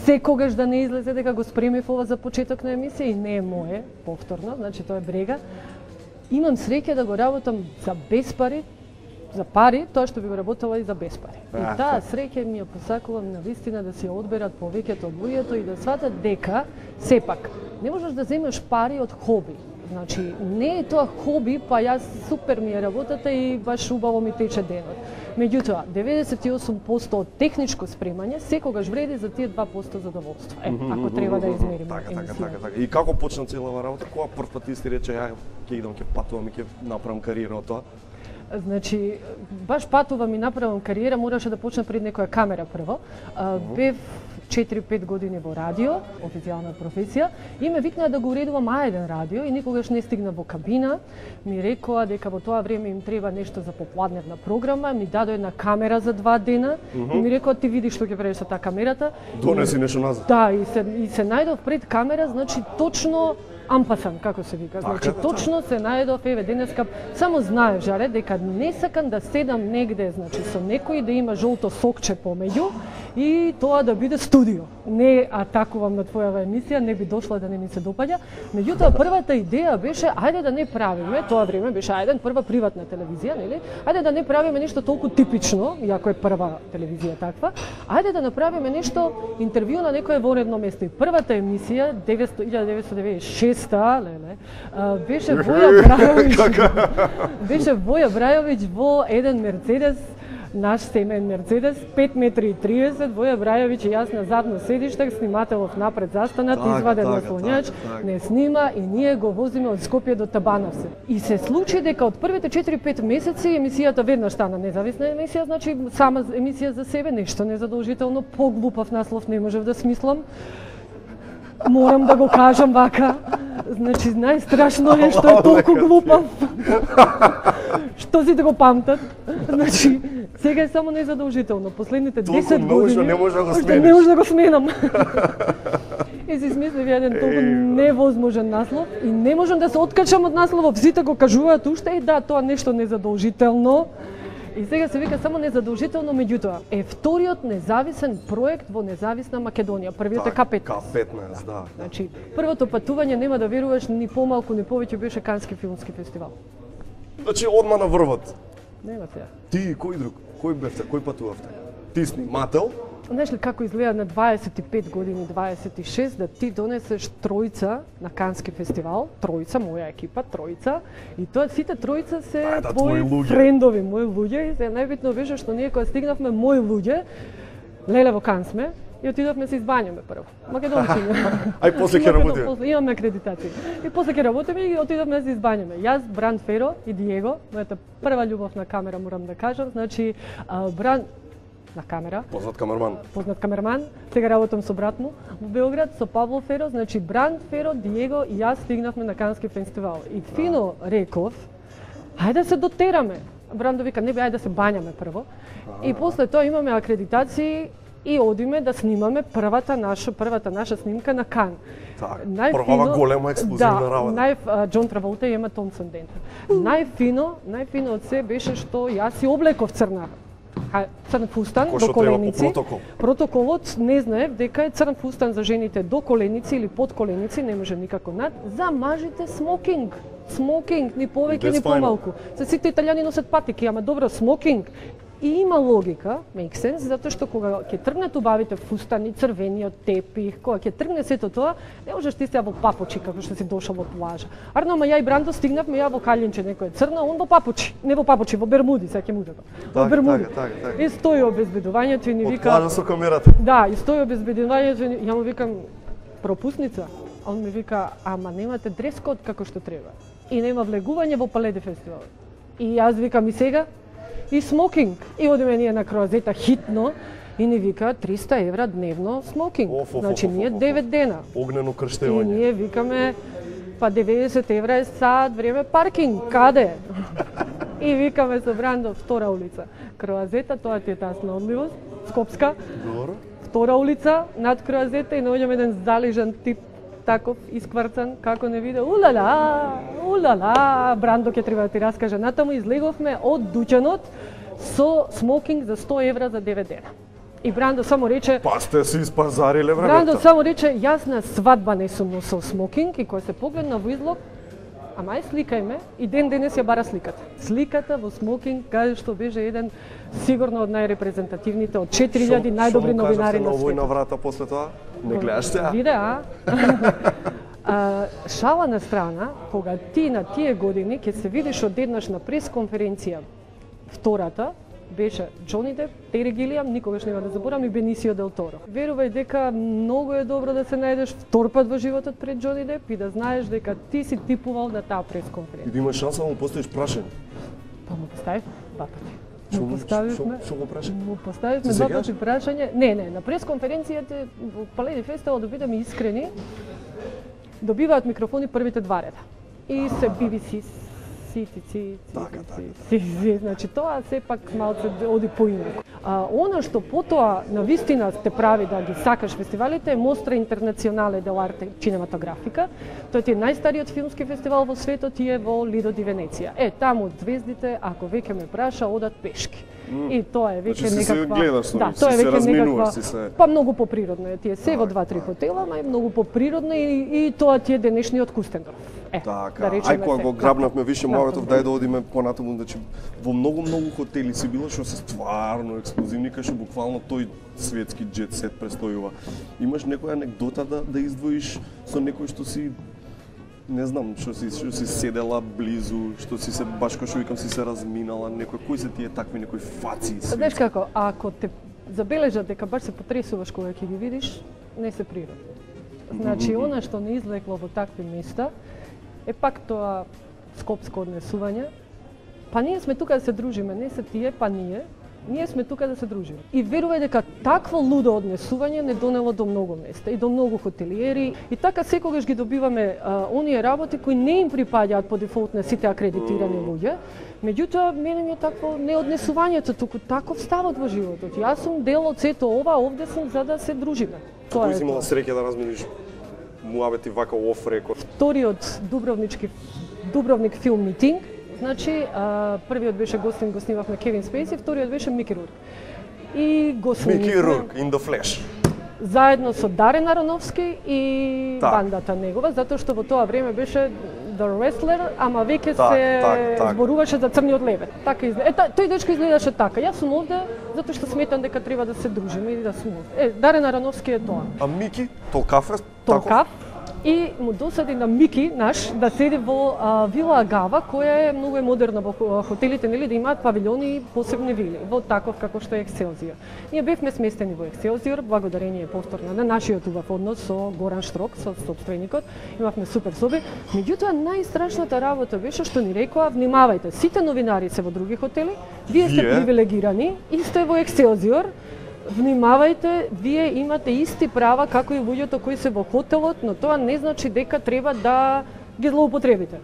секогаш да не излезе дека го спремив ова за почеток на емисија и не е мое, повторно, значи тоа е брега. Имам среќа да го работам за без пари, за пари, тоа што би го работела и за без пари. И таа среќа ми ја посакувам на вистина да си ја одберат повеќето од луѓето и да сватат дека сепак не можеш да земеш пари од хоби. Значи, не е тоа хоби, па јас супер ми е работата и баш убаво ми тече денот. Меѓутоа, деветдесет и осум проценти од техничко спремање секогаш вреди за тие два проценти задоволство. Е, ако треба да измериме така, така, емисија. така, така. И како почна целава работа? Кога прв пат ти си рече, ја ќе идам, ќе патувам и ќе направам кариера од тоа? Значи, баш патувам и направам кариера, мораше да почна пред некоја камера прво. Бев четири-пет години во радио, официјална професија, и ме викнаа да го уредувам А еден радио и никогаш не стигна во кабина. Ми рекоа дека во тоа време им треба нешто за попладневна програма, ми дадо една камера за два дена mm -hmm. и ми рекоа ти видиш што ќе правиш со таа камерата. Донеси нешто назад. Да, и се и се најдов пред камера, значи точно ампасан, како се вика. Значи, така, точно се најдов, еве, денеска, само знаеш, Жаре, дека не сакам да седам негде, значи, со некој да има жолто сокче помеѓу и тоа да биде студио. Не атакувам на твојава емисија, не би дошла да не ми се допаѓа. Меѓутоа првата идеја беше ајде да не правиме, тоа време беше ајде прва приватна телевизија, нели? Ајде да не правиме нешто толку типично, иако е прва телевизија таква. Ајде да направиме нешто интервју на некое вонредно место. И првата емисија илјада деветстотини деветдесет и шеста, леле, беше Воја Брајовиќ. Беше Воја Брајовиќ во еден Мерцедес, наш семеен Мерцедес, пет метри и триесет, Воја Брајовиќ и јас на задно седиште, снимателов напред застанат, така, изваден така, наслонјач, така, така. не снима и ние го возиме од Скопје до Табановце. И се случи дека од првите четири-пет месеци емисијата веднаш стана независна емисија, значи сама емисија за себе, нешто незадолжително, поглупав наслов не можев да смислам. Морам да го кажам вака. Значи, најстрашно е што е толку глупав. Што си да го памтат. Значи, сега е само незадолжително. Последните десет години... не може да го смениш. Не може да го сменам. И си смислив еден толку невозможен наслов и не можам да се откачам од насловот. Сите го кажуваат уште и да, тоа нешто незадолжително. И сега се вика само незадолжително, меѓутоа е вториот независен проект во независна Македонија. Првиот е К петнаесет. К петнаесет, да. Значи, првото патување нема да веруваш ни помалку ни повеќе беше Кански филмски фестивал. Значи одма на врвот. Нема сега. Ти кој друг? Кој бевте? Кој патувавте? Ти снимател? Знаеш ли како изгледа на дваесет и пет години, дваесет и шест, да ти донесеш тројца на Кански фестивал, тројца, моја екипа, тројца, и тоа сите тројца се а, да, твои френдови, мои луѓе, и се најбитно беше што ние кога стигнавме мои луѓе, леле во Кан сме, и отидовме се избањаме прво. Македонци. Ај после ќе работиме. Имаме акредитација. И после ќе работиме и отидовме да се избањаме. Јас, Бран Феро и Диего, мојата прва љубов на камера, морам да кажам, значи Бран на камера. Познат камерман. Познат камерман. Сега работам со брат му во Белград, со Павло Феро, значи Бран Феро, Диего и јас стигнавме на Кански фестивал. И фино реков, ајде да се дотераме. Брандо вика, не бе, ајде да се бањаме прво. И после тоа имаме акредитации и одиме да снимаме првата наша првата наша снимка на Кан. Так, првава голема експлозивна да, работа. Нај Џон Траволта и Ема Томпсон Дента. Најфино, најфино од се беше што јас си облеков црна црн фустан Кој до коленици. Протокол. Протоколот не знаев дека е црн фустан за жените до коленици или под коленици, не може никако над. За мажите смокинг. Смокинг, ни повеќе ни помалку. Се сите италијани носат патики, ама добро, смокинг. И има логика, make sense, затоа што кога ќе тргнат убавите фустани, црвениот тепих, кога ќе тргне сето тоа, не можеш ти сега во папучи како што си дошол во плажа. Арно, ама ја и Брандо стигнавме, ја во калинче некој црна, он во папучи, не во папучи, во бермуди, сега ќе му дадам. Во бермуди. Така, така, така. И стои обезбедувањето и ни вика... Од плажа со камерата. Да, и стои обезбедувањето и ја му викам пропусница. А он ми вика, ама немате дрес-код како што треба. И нема влегување во Паледе фестивал. И јас викам и сега, и смокинг. И одиме ние на Круазета хитно и ни вика триста евра дневно смокинг. Оф, оф, значи оф, ние оф, оф. девет дена. Огнено И крштевање. ние викаме па деветдесет евра е сат време паркинг. Каде? И викаме со Брандо втора улица. Круазета, тоа ти е таа снаодливост, Скопска. Добро. Втора улица над Круазета и наоѓаме еден залежан тип таков искврцан, како не виде, улала, улала, Брандо ќе треба да ти раскаже. Натаму излеговме од дуќанот со смокинг за сто евра за девет дена. И Брандо само рече... Па сте си испазариле времето. Брандо само рече, јас на свадба не сум носил смокинг и кога се погледна во излог, ама е сликајме и ден денес ја бара сликата. Сликата во смокинг, каде што беше еден сигурно од најрепрезентативните, од четири илјади најдобри новинари на светот. Шо му кажавте на овој светот. врата после тоа? Не гледаш теа? Виде, а? а? Шала на страна, кога ти на тие години ќе се видиш одеднаш на пресконференција, втората, беше Џони Деп, Тери Гилиам, никогаш нема да заборавам, и Бенисио Дел Торо. Верувај дека многу е добро да се најдеш втор пат во животот пред Џони Деп и да знаеш дека ти си типувал на таа пресконференција. И да имаш шанса да му поставиш прашање. Па му поставив два пати. Шо, Му поставивме, шо, шо го прашање? му поставивме Се два сеќаваш? пати прашање. Не, не, на пресконференцијата во Паледи фестивал, да бидеме искрени, добиваат микрофони првите два реда. И се би би си, си, си, си, Така, си, си, си, значи тоа сепак малце оди поинаку. А, она што потоа на вистина те прави да ги сакаш фестивалите е Мостра Интернационале del Arte Cinematográfica. Тој е најстариот филмски фестивал во светот и е во Лидо ди Венеција. Е, таму звездите, ако веќе ме праша, одат пешки. И тоа е веќе Значи, си се некаква гледаш со да, нив, тоа е си се веќе разминуваш, некаква си се- па многу поприродно е. Тие се во два-три хотела, ама е многу поприродно и, и тоа ти е денешниот Кустендорф. Е, Така, да речеме ај кога се. го грабнавме више Да, муабетов, да. дај да одиме понатаму, значи во многу многу хотели си било што се стварно ексклузивни, кај што буквално тој светски джет сет престојува. Имаш некоја анекдота да да издвоиш со некој што си не знам, што си што си седела близу, што си се баш како што викам си се разминала, некој кои се тие такви некои фаци? Знаеш како, ако те забележат дека баш се потресуваш кога ќе ги видиш, не се природно. Значи, она што не излекло во такви места, е пак тоа скопско однесување. Па ние сме тука да се дружиме, не се тие, па ние. Ние сме тука да се дружиме. И верувај дека такво лудо однесување не донело до многу места и до многу хотелиери. И така секогаш ги добиваме а, оние работи кои не им припаѓаат по дефолт на сите акредитирани луѓе. Меѓутоа, мене ми е такво не однесувањето, туку таков ставот во животот. Јас сум дел од сето ова, овде сум за да се дружиме. Тоа Кој е си имала тоа. среќа да разминиш муабети вака оф рекорд? Вториот Дубровнички Дубровник филм митинг. Значи, а, првиот беше гостин, го снимавме Кевин Спейси, вториот беше Мики Рурк. И го Мики снимавме Рурк, in the flesh. заедно со Дарен Ароновски и Так. бандата негова, затоа што во тоа време беше The Wrestler, ама веќе Так, се так, так. зборуваше за Црниот лебед. Така изгледа. Е, та- тој дечко изгледаше така. Јас сум овде затоа што сметам дека треба да се дружиме и да сум овде. Е, Дарен Ароновски е тоа. А Мики, толкав е? Толкав. И му досади на Мики наш да седи во а, Вила Агава, која е многу е модерна во хо- хотелите, нели, да имаат павилјони и посебни вили, во таков како што е Екселзиор. Ние бевме сместени во Екселзиор, благодарение повторно на нашиот убав однос со Горан Штрок, со собственикот. Имавме супер соби. Меѓутоа, најстрашната работа беше што ни рекоа, внимавајте, сите новинари се во други хотели, вие сте Вие? привилегирани и сте во Екселзиор. Внимавајте, вие имате исти права како и луѓето кои се во хотелот, но тоа не значи дека треба да ги злоупотребите.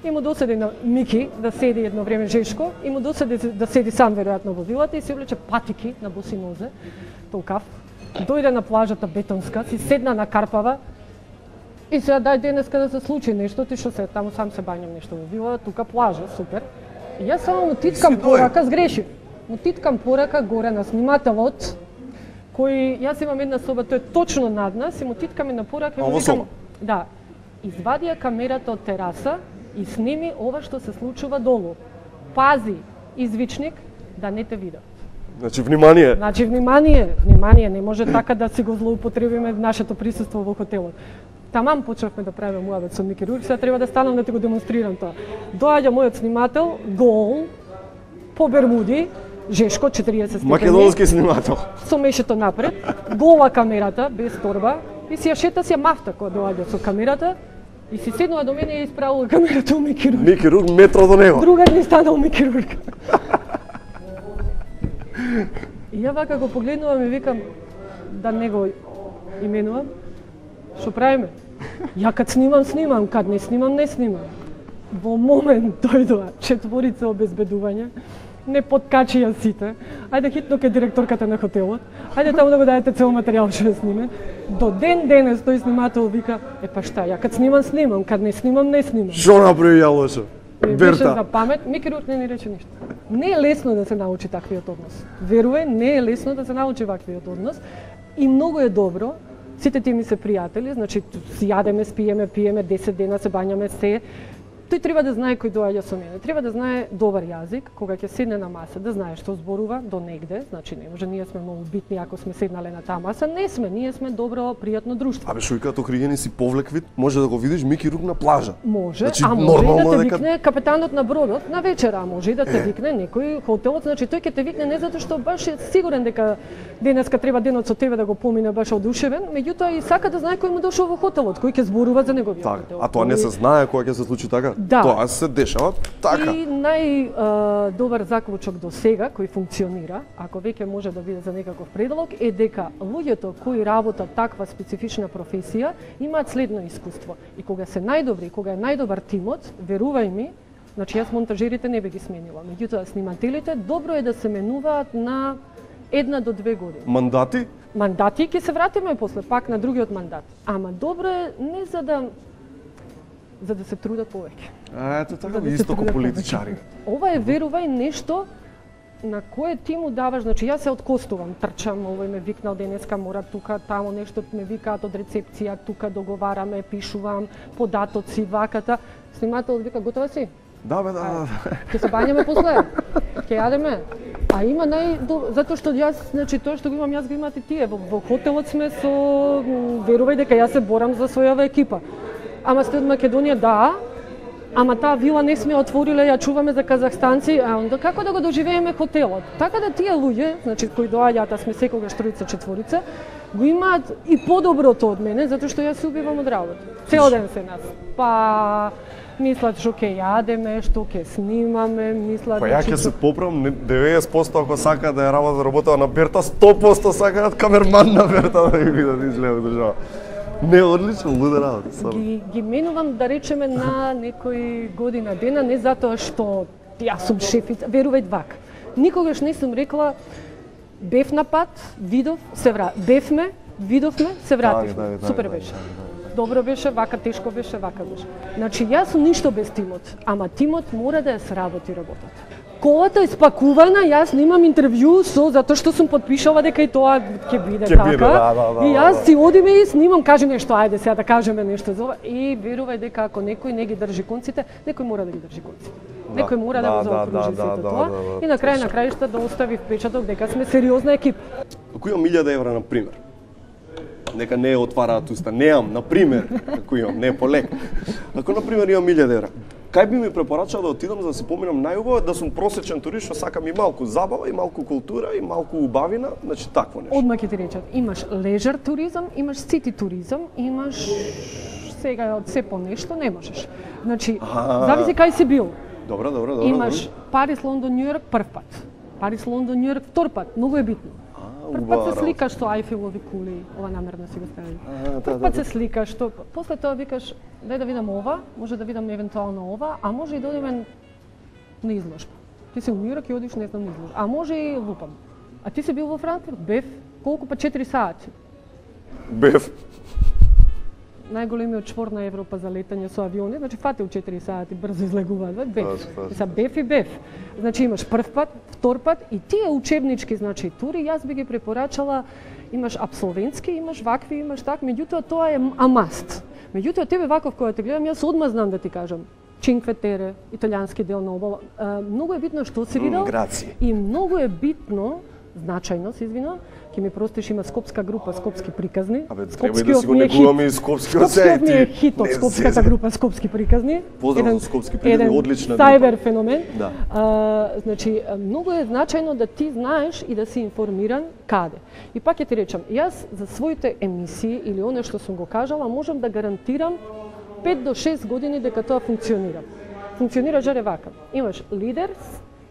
И му доседи на Мики да седи едно време Жешко, и му доседи да седи сам веројатно во вилата и се облече патики на боси нозе, толкав. Дојде на плажата бетонска, си седна на карпава и сега дај денеска да се случи нешто, ти што се таму сам се бањам нешто во вила, тука плажа, супер. И јас само му титкам порака, сгрешив. Му титкам порака горе на снимателот, кој јас имам една соба, тој е точно над нас, и му титкам на порака и А, му во викам, соба? да, извади ја камерата од тераса и сними ова што се случува долу. Пази, извичник, да не те видат. Значи, внимание. Значи, внимание, внимание, не може така да си го злоупотребиме нашето присуство во хотелот. Тамам почнавме да правиме муабет со Мики Рурк, сега треба да станам да ти го демонстрирам тоа. Доаѓа мојот снимател, гол, по Бермуди, Жешко, четириесет степени. Македонски снимател. Со мешето напред, гола камерата, без торба, и си ја шета си ја мафта кога доаѓа со камерата, и си седнува до мене и исправува камерата у Мики Рурк. Мики Рурк метро до него. Другар ни станал Мики Рурк. И ја вака го погледнувам и викам, да не го именувам, што правиме? Ја кад снимам, снимам, кад не снимам, не снимам. Во момент дојдоа четворица обезбедување, не подкачија сите. Ајде хитно ке директорката на хотелот. Ајде таму да го дадете цел материјал што ја сниме. До ден денес тој снимател вика, е па шта, ја кад снимам, снимам, кад не снимам, не снимам. Што направи ја лошо? Ми беше за Берта. памет, Мики Рурк не ни рече ништо. Не е лесно да се научи таквиот однос. Верувај, не е лесно да се научи ваквиот однос. И многу е добро, сите тие ми се пријатели, значи си јадеме, спиеме, пиеме, десет дена се бањаме, се. Тој треба да знае кој доаѓа со мене. Треба да знае добар јазик, кога ќе седне на маса, да знае што зборува до негде, значи не може ние сме многу битни ако сме седнале на таа маса, не сме, ние сме добро, пријатно друштво. Абе, што викаат окригени си повлек вид, може да го видиш Мики Рурк на плажа. Може, Значи, а може и нормално да те дека- викне капетанот на бродот на вечера, а може и да те викне некој хотелот, значи тој ќе те викне не затоа што баш е сигурен дека денеска треба денот со тебе да го помине баш одушевен, меѓутоа и сака да знае кој му дошол во хотелот, кој ќе зборува за неговиот Така, хотел. а тоа не се знае кога ќе се случи така? Да. Тоа се дешава така. И најдобар заклучок до сега кој функционира, ако веќе може да биде за некаков предлог, е дека луѓето кои работат таква специфична професија имаат следно искуство. И кога се најдобри, кога е најдобар тимот, верувај ми, значи јас монтажерите не би ги сменила, меѓутоа снимателите добро е да се менуваат на една до две години. Мандати? Мандати ќе се вратиме после пак на другиот мандат. Ама добро е не за да за да се трудат повеќе. А, ето така, За да се исто ко трудат политичари. повеќе. Ова е, верувај, нешто на кое ти му даваш, значи јас се откостувам, трчам, овој ме викнал денеска, мора тука, тамо нешто ме викаат од рецепција, тука договараме, пишувам, податоци, ваката. Снимателот вика, готова си? Да, бе, да, да. Ќе се бањаме после, ќе јадеме. А има нај... Затоа што јас, значи, тоа што го имам, јас го имат и тие. Во, во хотелот сме со... Верувај дека јас се борам за својава екипа. Ама сте од Македонија, да, ама таа вила не сме отвориле, ја чуваме за казахстанци, а онда како да го доживееме хотелот? Така да тие луѓе, значи, кои доаѓаат, а сме секогаш тројца, четворица, го имаат и подоброто од мене, затоа што јас се убивам од работа. Цел ден се нас. Па... мислат што ќе јадеме, што ќе снимаме, мислат... Па ја ќе се поправам, деветдесет проценти ако сака да ја работа работава на Берта, сто проценти сакаат камерман на Берта да ги видат изгледа држава. Не, одлично, луда работа. Ги, ги менувам, да речеме, на некој година дена, не затоа што јас сум шефица, верувај вак. Никогаш не сум рекла, бев на пат, видов, се вра... Бевме, видовме, се вративме. Супер беше. Добро беше, вака тешко беше, вака беше. Значи, јас сум ништо без тимот, ама тимот мора да ја сработи работата. Колата е спакувана, јас немам интервју со, затоа што сум подпишала дека и тоа ќе биде Ке така. биде, да, да, да, и јас да. си одиме и снимам, кажи нешто, ајде сега да кажеме нешто за ова. И верувај дека ако некој не ги држи конците, некој мора да ги држи конците. Да, Некој мора да, да, го да, заокружи да, сето да, тоа. да, да, и на крај точно. на крајшта да остави впечаток дека сме сериозна екипа. Ако имам илјада евра, на пример, нека не отвараат уста, неам, на пример, ако имам, не полек. Ако на пример имам илјада евра, кај би ми препорачал да отидам за да се поминам најубаво, да сум просечен турист што сакам и малку забава, и малку култура, и малку убавина, значи такво нешто. Одма ќе ти речат, имаш лежер туризам, имаш сити туризам, имаш сега од се по нешто, не можеш. Значи, А. зависи кај си бил. Добро, добро, добро. Имаш добро. Парис, Лондон, Њујорк прв пат. Парис, Лондон, Њујорк втор пат, многу е битно. Прв пат се сликаш со Ајфелови кули, ова намерно си го стави. Прв пат се сликаш, што после тоа викаш, дај да видам ова, може да видам евентуално ова, а може и да одиме на изложба. Ти си у Њујорк и одиш, не знам, на изложба. А може и лупам. А ти си бил во Франкфурт, бев, колку па четири сати. Бев. Најголемиот чвор на Европа за летање со авиони, значи фатил четири сати, брзо излегуваат, бев. Точно, точно. Са бев и бев. Значи имаш прв пат, втор пат и тие учебнички, значи тури, јас би ги препорачала, имаш апсолвентски, имаш вакви, имаш так, меѓутоа тоа е амаст. Меѓутоа тебе ваков која те гледам, јас одма знам да ти кажам. Чинкве Тере, италијански дел на обала. А, многу е битно што си видел. Граци. И многу е битно, значајно се извинувам, ќе ми простиш, има скопска група, скопски приказни. Абе, треба и да си го негуваме и скопскиот Скопскиот ми е сејти. хит од скопската група Скопски приказни. Поздрав за скопски приказни, еден одлична сайбер група. феномен. Да. А, значи, многу е значајно да ти знаеш и да си информиран каде. И пак ќе ти речам, јас за своите емисии или оно што сум го кажала, можам да гарантирам пет до шест години дека тоа функционира. Функционира жаре вака. Имаш leaders,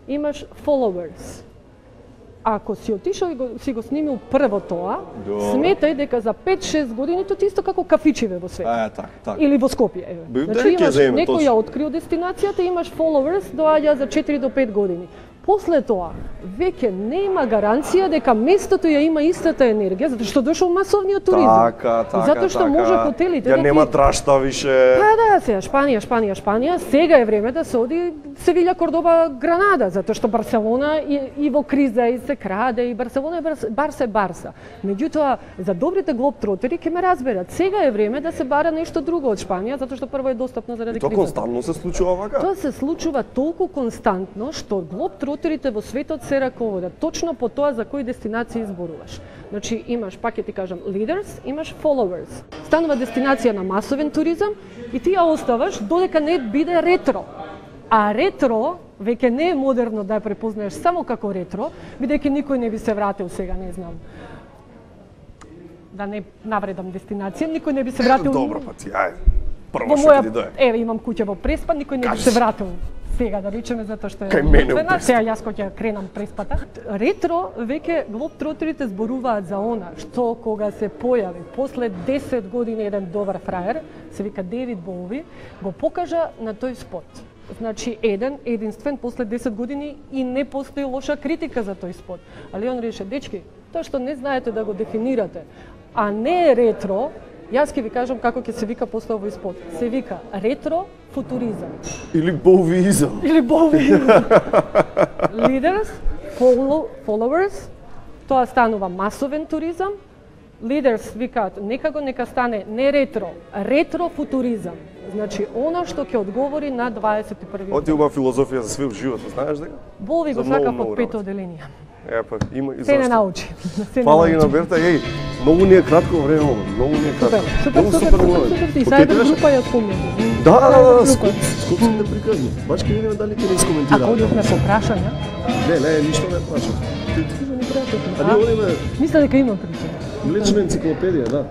имаш followers. Ако си отишол и го, си го снимил прво тоа, Добре. сметај дека за пет шест години тоа ти исто како кафичиве во свет. А, така, така. Или во Скопје, еве. Бе, Значи дали ќе имаш земе, некој ја точно. открил дестинацијата, имаш followers, доаѓа за четири до пет години. После тоа, веќе нема гаранција дека местото ја има истата енергија, затоа што дошол масовниот туризам. Така, така, И затоа што така. може хотелите Ја да нема ти... трашта више. Па да, сега Шпанија, Шпанија, Шпанија, сега е време да се оди Севиља, Кордоба, Гранада, затоа што Барселона и, и во криза и се краде и Барселона е Барс, Барса е Барса. Меѓутоа, за добрите глобтротери ќе ме разберат. Сега е време да се бара нешто друго од Шпанија, затоа што прво е достапно заради Тоа кризата. константно се случува вака? Тоа се случува толку константно што глобтротерите во светот се раководат точно по тоа за кои дестинации изборуваш. Значи имаш, пак ќе ти кажам, leaders, имаш followers. Станува дестинација на масовен туризам и ти ја оставаш додека не биде ретро. А ретро веќе не е модерно да ја препознаеш само како ретро, бидејќи никој не би се вратил сега, не знам. Да не навредам дестинација, никој не би се вратил. Добро, па ти, ајде. Прво Во што моја, ти дое. еве имам куќа во Преспа, никој не би Кажи се си. вратил сега да речеме затоа што е Кај мене во цена, Преспа. сега јас кој ќе кренам Преспата. Ретро веќе глобтротерите зборуваат за она што кога се појави после десет години еден добар фраер, се вика Девид Боуи, го покажа на тој спот. Значи еден единствен после десет години и не постои лоша критика за тој спот. Али он реше, дечки, тоа што не знаете да го дефинирате, а не е ретро, јас ќе ви кажам како ќе се вика после овој спот. Се вика ретро футуризам. Или боувизам. Или боувизам. Leaders, follow, followers, тоа станува масовен туризам. Leaders викаат некако нека стане не ретро, ретро футуризам. Значи она што ќе одговори на дваесет и први Оти уба филозофија за све в животот, знаеш дека? Бови го сакав од пето оделенија. Е, па има и Се не зашто. научи. Се Фала не и научи. на Берта, еј, многу ни е кратко време, ова, многу ни е кратко. Супер, Многу супер, супер, многу. супер, и заедно Покетираш? група ја спомнам. Да, да, да, скопските приказни. Баш ќе видиме дали ќе не искоментира. Ако одивме по прашања? Не, не, ништо не прашам. А ние одиме Мисля дека има причина. лична енциклопедија, да.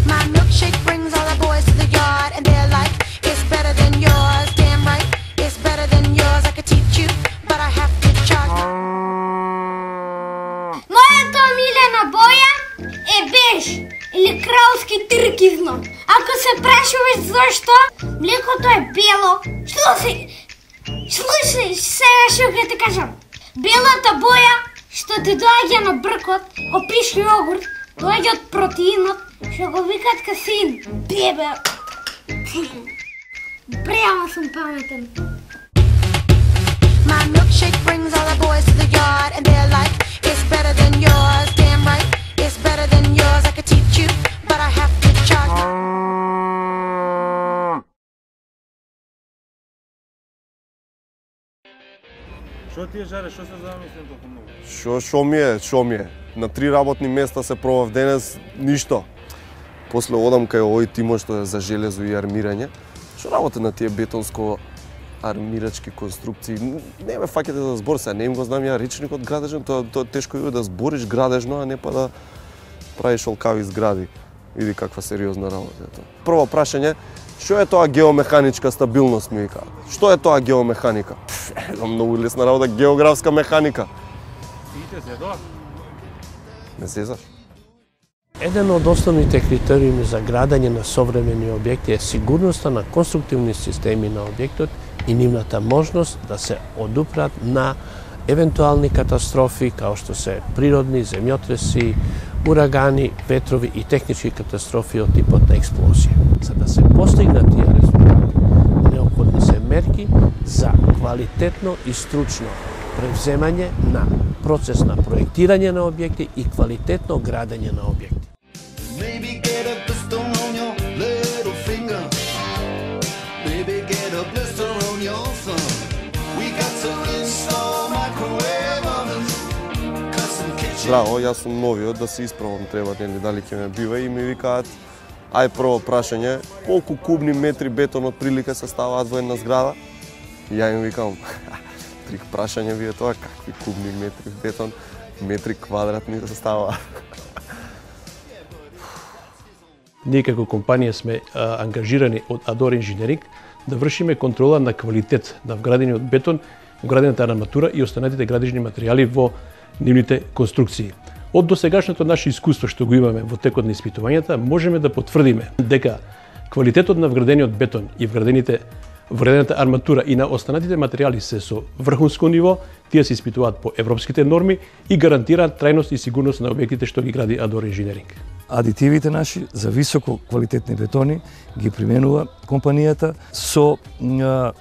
My milkshake brings all the boys to the yard, and they're like, it's better than yours. Damn right, it's better than yours. I could teach you, but I have to charge. Мојата омилена боја е беж или кралски туркизно. Ако се прашуваш зашто, млекото е бело. Што се? Слушај, сега што ќе ти кажам. Белата боја што ти доаѓа на бркот, го пиш јогурт, доаѓа од протеинот, што го викат касин. Бебе. Преама сум паметен. My milkshake brings all the boys to the yard, and they're like, it's better than yours. Damn right, it's better than yours. I could teach you, but I have to charge. Што ти е, Жаре, што се замислен толку многу? Шо, шо ми е, шо ми е. На три работни места се пробав денес, ништо. После одам кај овој тимо што е за железо и армирање. Што работи на тие бетонско армирачки конструкции? Не ме фаќате за збор, сега не им го знам ја речникот градежен, тоа тоа тешко е да збориш градежно, а не па да правиш олкави згради. Види каква сериозна работа е тоа. Прво прашање, што е тоа геомеханичка стабилност, ми вика? Што е тоа геомеханика? Едно многу лесна работа, географска механика. Сите се тоа? Не сезаш? Еден од основните критериуми за градење на современи објекти е сигурноста на конструктивни системи на објектот и нивната можност да се одупрат на евентуални катастрофи, као што се природни, земјотреси, урагани, ветрови и технички катастрофи од типот на експлозија. За да се постигнат тие резултати, неопходни се мерки за квалитетно и стручно превземање на процес на проектирање на објекти и квалитетно градење на објекти. Maybe get a blister on your little finger. Maybe get a blister on your thumb. We got to install microwave ovens, custom kitchen. Здраво, јас сум новиот, да се испробам треба, нели, дали ќе ме бива и ми викаат, ај прво прашање, колку кубни метри бетон од прилика се ставаат во една зграда? И ја им викам, трик прашање ви е тоа, какви кубни метри бетон, метри квадратни се ставаат. Ние како компанија сме а, ангажирани од Адор Engineering да вршиме контрола на квалитет на вградениот бетон, вградената арматура и останатите градежни материјали во нивните конструкции. Од досегашното наше искуство што го имаме во текот на испитувањата, можеме да потврдиме дека квалитетот на вградениот бетон и вградените вградената арматура и на останатите материјали се со врхунско ниво, тие се испитуваат по европските норми и гарантираат трајност и сигурност на објектите што ги гради Адор Engineering. Адитивите наши за високо квалитетни бетони ги применува компанијата со а,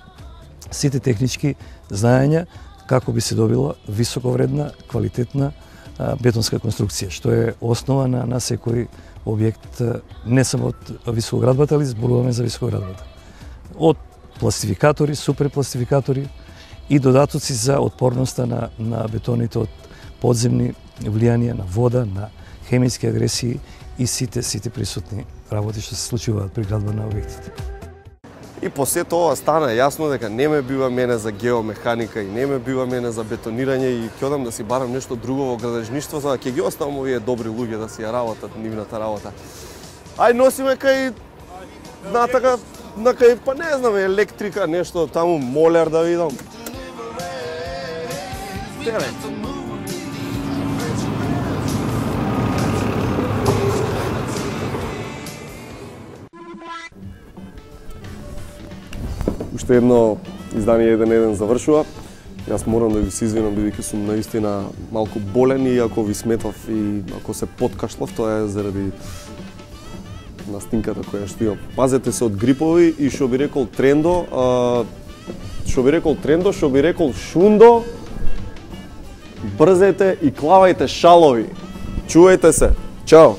сите технички знаења како би се добила високовредна, квалитетна а, бетонска конструкција, што е основа на, на секој објект, а, не само од високоградбата, али зборуваме за високоградбата. Од пластификатори, суперпластификатори и додатоци за отпорноста на, на бетоните од подземни влијанија на вода, на хемиски агресии и сите сите присутни работи што се случуваат при градба на објектите. И по сето ова стана јасно дека не ме бива мене за геомеханика и не ме бива мене за бетонирање и ќе одам да си барам нешто друго во градежништво, за да ќе ги оставам овие добри луѓе да си ја работат нивната работа. Ај носиме кај натака на кај па не знам електрика, нешто таму молер да видам. Теле. Уште едно издание еден еден завршува. Јас морам да ви се извинам бидејќи сум наистина малку болен и ако ви сметав и ако се подкашлав, тоа е заради настинката која што имам. Пазете се од грипови и што би рекол Трендо, а, што би рекол Трендо, што би рекол Шундо, брзете и клавајте шалови. Чувајте се. Чао.